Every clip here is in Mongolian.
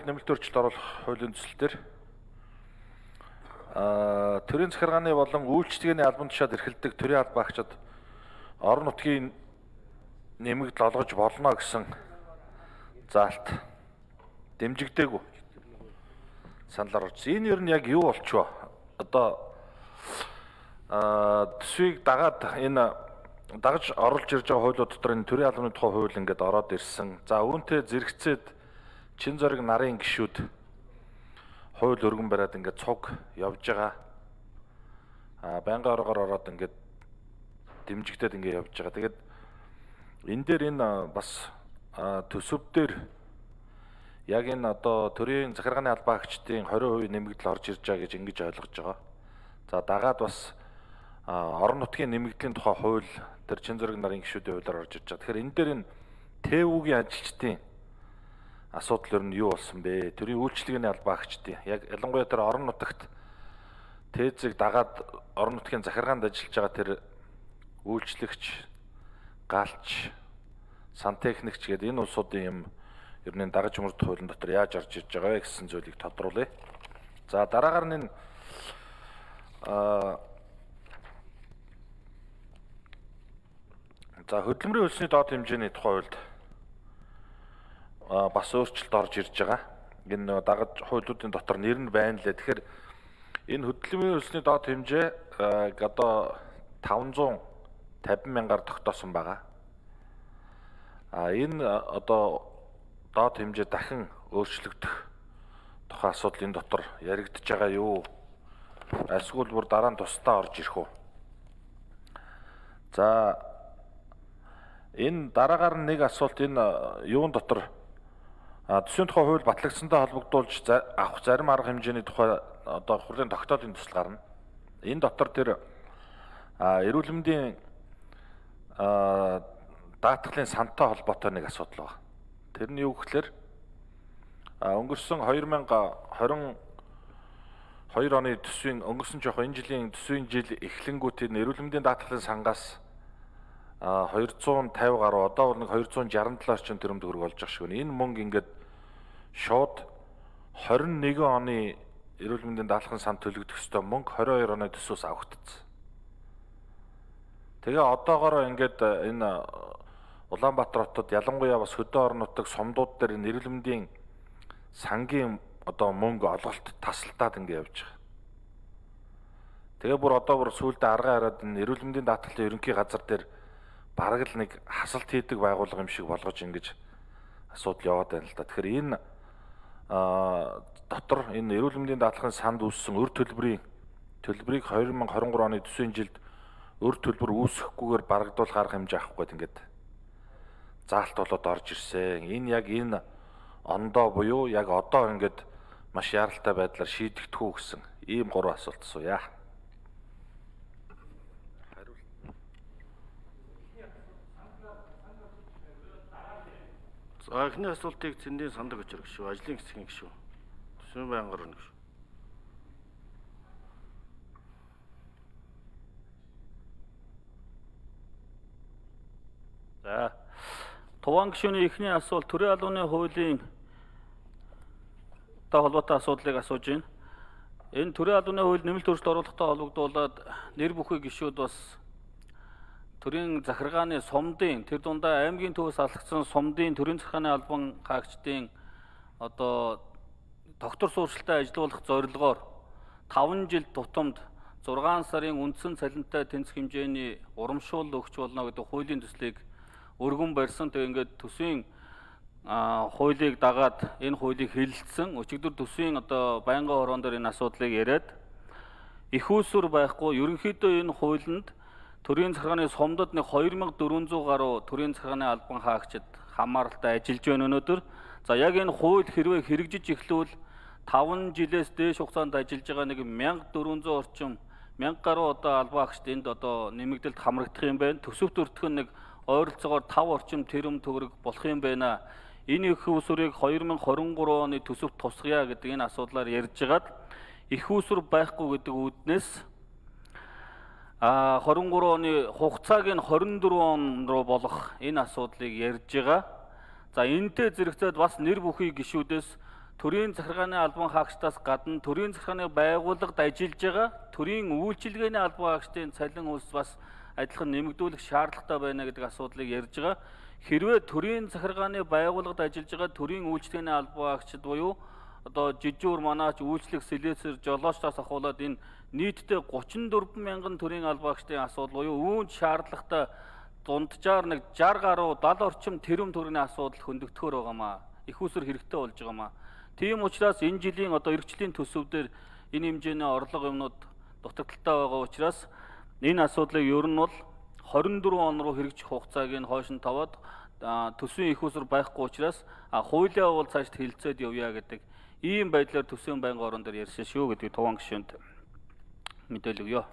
нэмэлт өөрчлөлт оруулах хуулийн төсөл дээр төрийн захиргааны болон үйлчлэгээний албан тушаал эрхэлдэг төрийн албаагчид орон нутгийн нэмэгдэл олгож болно гэсэн заалт дэмжигдээгүй санал оруулсан. Энэ ер нь яг юу болчихвоо? Одоо төсвийг дагаад энэ дагаж оруулж ирж байгаа хуулиуд дотор энэ төрийн албаны тухай хууль ингээд ороод ирсэн. За үүнтэй зэрэгцээд чин зориг нарын гишүүд хууль өргөн бариад ингээд цуг явж байгаа. Байнгын оргоор ороод ингээд дэмжигдээд ингээд явж байгаа. Тэгээд энэ дээр энэ бас төсөв дээр яг энэ одоо төрийн захиргааны албаагчдын 20% нэмэгдэл орж ирж байгаа гэж ингэж ойлгож байгаа. За дагаад бас орон нутгийн нэмэгдлийн тухай хууль тэр чин зориг нарын гишүүдийн хуулиар орж ирж байгаа. Тэгэхээр энэ дээр энэ ТЭВ-ийн ажилчдын асуудал ер нь юу болсон бэ? Төрийн үйлчлэгээний албаагчдын яг ялангуяа тэр орон нутагт тээзийг дагаад орон нутгийн захиргаанд ажиллаж байгаа тэр үйлчлэгч, галч, сантехникч гэдэг энэ улсуудын юм ер нь дагаж мөрдөх хуулийн дотор яаж орж ирж байгаа вэ гэсэн зүйлийг тодруулъя. За дараагаар нь за хөдөлмөрийн хөлсний доод хэмжээний тухай хуульд бас өөрчлөлт орж ирж байгаа. Энэ дагаж хуулиудын дотор нэр нь байна лээ. Тэгэхээр энэ хөдөлмөрийн хөлсний доод хэмжээ одоо 550 мянгаар тогтоосон байгаа. Энэ одоо доод хэмжээ дахин өөрчлөгдөх тухай асуудал энэ дотор яригдж байгаа юу? Эсвэл бүр дараа нь тусдаа орж ирэх үү? За энэ дараагаар нэг асуулт энэ юун дотор төсвийн тухай хууль батлагдсантай холбогдуулж авах зарим арга хэмжээний тухай одоо хурлын тогтоолын төсөл гарна. Энэ дотор тэр эрүүл мэндийн даатгалын сантай холбоотой нэг асуудал байна. Тэр нь юу гэхээр өнгөрсөн 2022 оны төсвийн өнгөрсөн жоох энэ жилийн төсвийн жил эхлэнгүүт энэ эрүүл мэндийн даатгалын сангаас 250 гаруй одоо бол нэг 267 орчим төгрөг болж байгаа шиг байна. Энэ мөнгө ингээд шууд 21 оны эрүүл мэндийн даатгалын санд төлөгдөх ёстой мөнгө 22 оны төсвөөс авагдсан. Тэгээ одоогоор ингээд энэ Улаанбаатар хотод ялангуяа бас хөдөө орон нутаг сумдууд дээр эрүүл мэндийн сангийн одоо мөнгө олголт тасалдаад ингээд явж байгаа. Тэгээ бүр одоо бүр сүүлдээ аргаа хараад энэ эрүүл мэндийн даатгалын ерөнхий газар дээр бараг л нэг хасалт хийдэг байгууллага юм шиг болгож ингэж асуудал яваад байна л да. Тэгэхээр энэ дотор энэ эрүүл мэндийн даатгалын санд үүссэн өр төлбөрийг 2023 оны төсвийн жилд өр төлбөр үүсэхгүйгээр барагдуулах арга хэмжээ авахгүй гэдэг ингээд заалт болоод орж ирсэн. Энэ яг энэ ондоо буюу яг одоо ингээд маш яралтай байдлаар шийдэгдэх үү гэсэн ийм 3 асуулт асууя. За эхний асуултыг цэндийн сандаг өчрөг шүү. Ажлын хэсгийн гишүү. Төсвийн байнгын орны гишүү. За Туван гишүүний эхний асуулт төрийн албаны хуулийн холбоотой асуудлыг асууж байна. Энэ төрийн албаны хууль нэмэлт өөрчлөлт оруулахтай холбогдуулаад нэр бүхий гишүүд бас төрийн захиргааны сумдын тэр дундаа аймгийн төвөөс алгацсан сумдын төрийн захиргааны албан хаагчдын одоо доктор сууршилтай ажилуулах зорилгоор 5 жил тутамд 6 сарын үндсэн цалинтай тэнцэх хэмжээний урамшуул өгч болно гэдэг хуулийн төслийг өргөн барьсан. Тэгээ ингээд төсвийн хуулийг дагаад энэ хуулийг хэлэлцсэн. Өчигдөр төсвийн одоо байнгын хорон дээр энэ асуудлыг яриад их үүсвэр байхгүй ерөнхийдөө энэ хуулинд төрийн захиргааны сумдад нэг 2400 гаруй төрийн захиргааны албан хаагчид хамааралтай ажиллаж байна өнөөдөр. За яг энэ хууль хэрвээ хэрэгжиж эхлүүл 5 жилээс дээш хугацаанд ажиллаж байгаа нэг 1400 орчим 1000 гаруй одоо албан хаагчид энд одоо нэмэгдэлд хамрагдах юм байна. Төсөвт өртгөн нэг ойролцоогоор 5 орчим тэрэм төгрөг болох юм байна. Энэ их үүсвэрийг 2023 оны төсөвт тусгая гэдэг энэ асуудлаар ярьж байгаад их үүсвэр байхгүй гэдэг үүднээс 23 оны хугацааг нь 24 он руу болгох энэ асуудлыг ярьж байгаа. За энэтэй зэрэгцээд бас нэр бүхий гишүүдээс төрийн захиргааны албан хаагчдаас гадна төрийн захиргааны байгууллагад ажиллаж байгаа төрийн үйлчилгээний албан хаагчдын цалин хөлс бас адилхан нэмэгдүүлэх шаардлагатай байна гэдэг асуудлыг ярьж байгаа. Хэрвээ төрийн захиргааны байгууллагад ажиллаж байгаа төрийн үйлчилгээний албан хаагчид буюу одоо жижүүр манаач үйлчлэх сэлэсэр жолоочтоос ахуулаад энэ нийтдээ 34 мянган төрийн албан хаагчдын асуудал буюу үүнд шаардлагатай дунджаар нэг 60 гаруй 70 орчим тэрбум төгрөгийн асуудал хөндөгдөхөөр байгаамаа. Их усэр хэрэгтэй болж байгаамаа. Тийм учраас энэ жилийн одоо эрхчлийн төсөвдөр энэ хэмжээний орлого юмнууд дутагдaltaй байгаа учраас энэ асуудлыг ер нь бол 24 он руу хэрэгжих хугацааг нь хойш нь таваад төсвийн их усэр байхгүй учраас хуулиа бол цаашд хилцээд явъя гэдэг ийм байдлаар төсвийн байнгын орон дээр ярьсан шүү гэдэг туван гишүүнд мэдээлэл өгье.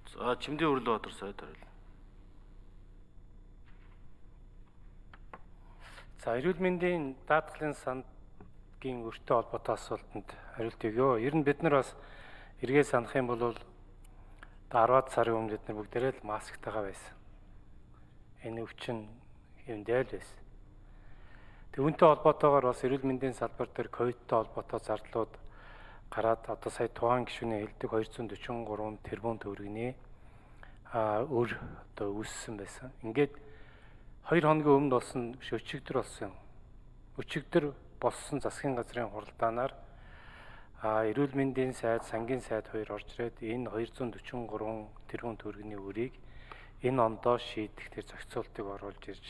За Чимдийн Өрлөбаатар сайд хариулна. За эрүүл мэндийн даатгалын сангийн өртөө холбоотой асуултанд хариулт өгье. Ер нь бид нар бас эргээ санах юм бол 10 сарын өмнө бид нар бүгдээрээ л масктайгаа байсан. Энэ өвчин хэмдэл байсан. Түүнтэй холбоотойгоор бас эрүүл мэндийн салбар дээр ковидтой холбоотой зардлууд гараад одоо сая тухайн гишүүний хэлдэг 243 тэрбум төгрөгийн өр одоо үүссэн байсан. Ингээд 2 хоногийн өмнө болсон өчигдөр болсон. Өчигдөр болсон засгийн газрын хуралдаанаар эрүүл мэндийн сайд, сангийн сайд хоёр орж ирээд энэ 243 тэрбум төгрөгийн өрийг энэ ондоо шийдэх тэр зохицуултыг оруулж ирж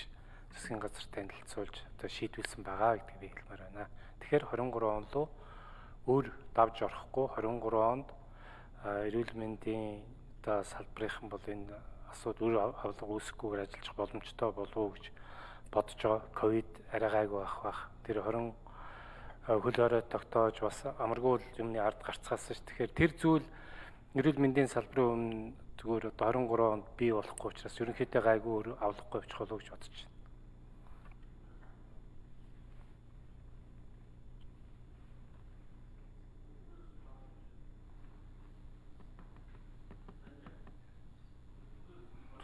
засгийн газар танилцуулж одоо шийдвэлсэн байгаа гэдгийг би хэлмээр байна. Тэгэхээр 23 он руу өр давж орохгүй 23 онд эрүүл мэндийн одоо салбарынхан бол энэ асуудал өр авлага үүсэхгүйгээр ажиллах боломжтой болов уу гэж бодож байгаа. Ковид арай гайгүй байх. Тэр 20 хөл орой тогтоож бас амаргүй юмны ард гарцгаасан ш. Тэгэхээр тэр зүйл эрүүл мэндийн салбарын өмнө зүгээр одоо 23 онд бий болохгүй учраас ерөнхийдөө гайгүй өр авлахгүй явчих болов уу гэж бодож байна.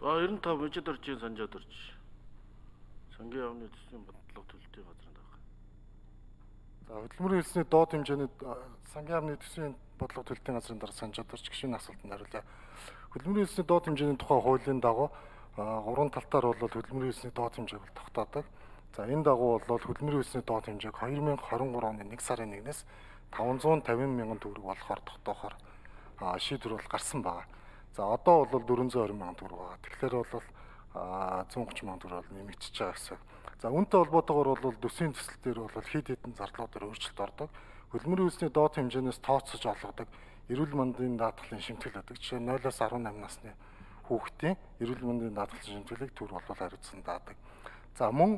За 95 мужид оржийн санжаад орж. Сангийн яамны төсвийн бодлого төлөлтийн газранд байгаа. За хөдөлмөрийн хэлсний доод хэмжээний сангийн яамны төсвийн бодлого төлөлтийн газрын дараа санжаад орж гişүүний асуултанд хариулъя. Хөдөлмөрийн хэлсний доод хэмжээний тухай хуулийн дагуу 3 талтаар бол хөдөлмөрийн хэлсний доод хэмжээг бол тогтоодог. За энэ дагуу бол хөдөлмөрийн хэлсний доод хэмжээг 2023 оны 1 сарын 1-ээс 550 мянган төгрөг болохоор тогтоохоор шийдвэр бол гарсан байна. За одоо бол 420 мянган төгрөг байгаа. Тэгэхээр бол 130 мянган төгрөг бол нэмэгдэж байгаа гэсэн. За үүнтэй холбоотойгоор бол төсвийн төсөл дээр бол хэд хэдэн зардлуудаар өөрчлөлт ордог. Хөдөлмөрийн үйлсний доод хэмжээнээс тооцож олгодог эрүүл мэндийн даатгалын шимтгэл байдаг. Жишээ нь 0-аас 18 насны хүүхдийн эрүүл мэндийн даатгалын шимтгэлийг төр бол хариуцсан даадаг. За мөн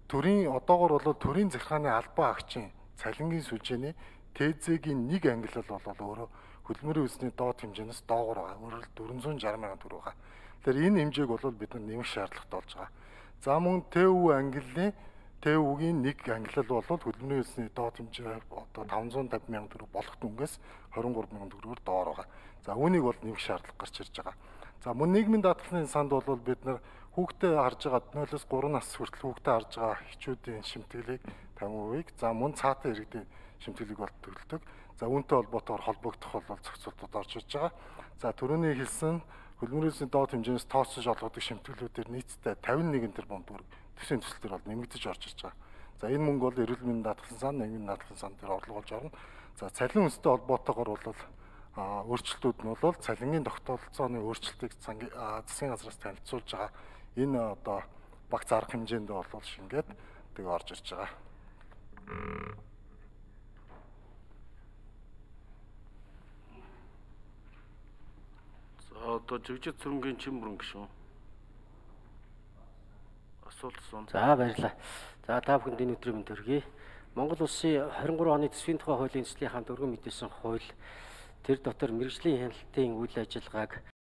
төрийн одоогоор бол төрийн захиргааны албан хаагчийн цалингийн сүлжээний ТЗ-гийн нэг ангилал бол өөрөө хөдөлмөрийн үйлсний доод хэмжээнээс доогуур байгаа. Өөрөөр 460 мянган төгрөг байгаа. Тэгэхээр энэ хэмжээг бол бид нар нэмэх шаардлагатай болж байгаа. За мөн ТУ ангиллын ТУ-гийн нэг ангилал бол хөдөлмөрийн үйлсний доод хэмжээ одоо 550 мянган төгрөг болох дүнгээс 23 мянган төгрөгөөр доор байгаа. За үүнийг бол нэмэх шаардлага гарч ирж байгаа. За мөн нийгмийн даатгалын санд бол бид нар хүүхдээ харж байгаа 0-оос 3 нас хүртэл хүүхдээ харж байгаа эхчүүдийн шимтгэлийг 50%-ийг за мөн цаатан иргэдийн шимтгэлийг бол төлдөг. За үүнтэй холбоотойгоор холбогдох бол зохицуултууд орж ирж байгаа. За түрүүний хэлсэн хөдөлмөрийн үйлсний доод хэмжээнээс тооцож олгодог шимтгэлүүдээр нийтдээ 51 тэрбум төгрөг төсвийн төсөл төр бол нэмэгдэж орж ирж байгаа. За энэ мөнгө бол эрүүл мэндийн даатгалын сан, нийгмийн даатгалын сан дээр орлого болж орно. За цалин үнэтэй холбоотойгоор бол өөрчлөлтүүд нь бол цалингийн тогтолцооны өөрчлөлтийг засгийн газраас танилцуулж байгаа. Энэ одоо багц арга хэмжээнд бол шингээд тэгээ орж ирж байгаа. Одоо жигжид цэрэнгийн Чимбүрэн гишүүн. Асуулт асуун. За баярлалаа. За та бүхэнд энэ өдрийн мэнд төргий. Монгол Улсын 23 оны төсвийн тухай хуулийн эзлэлийн хамт өргөн мэдээлсэн хууль тэр дотор мэргэжлийн хяналтын үйл ажиллагааг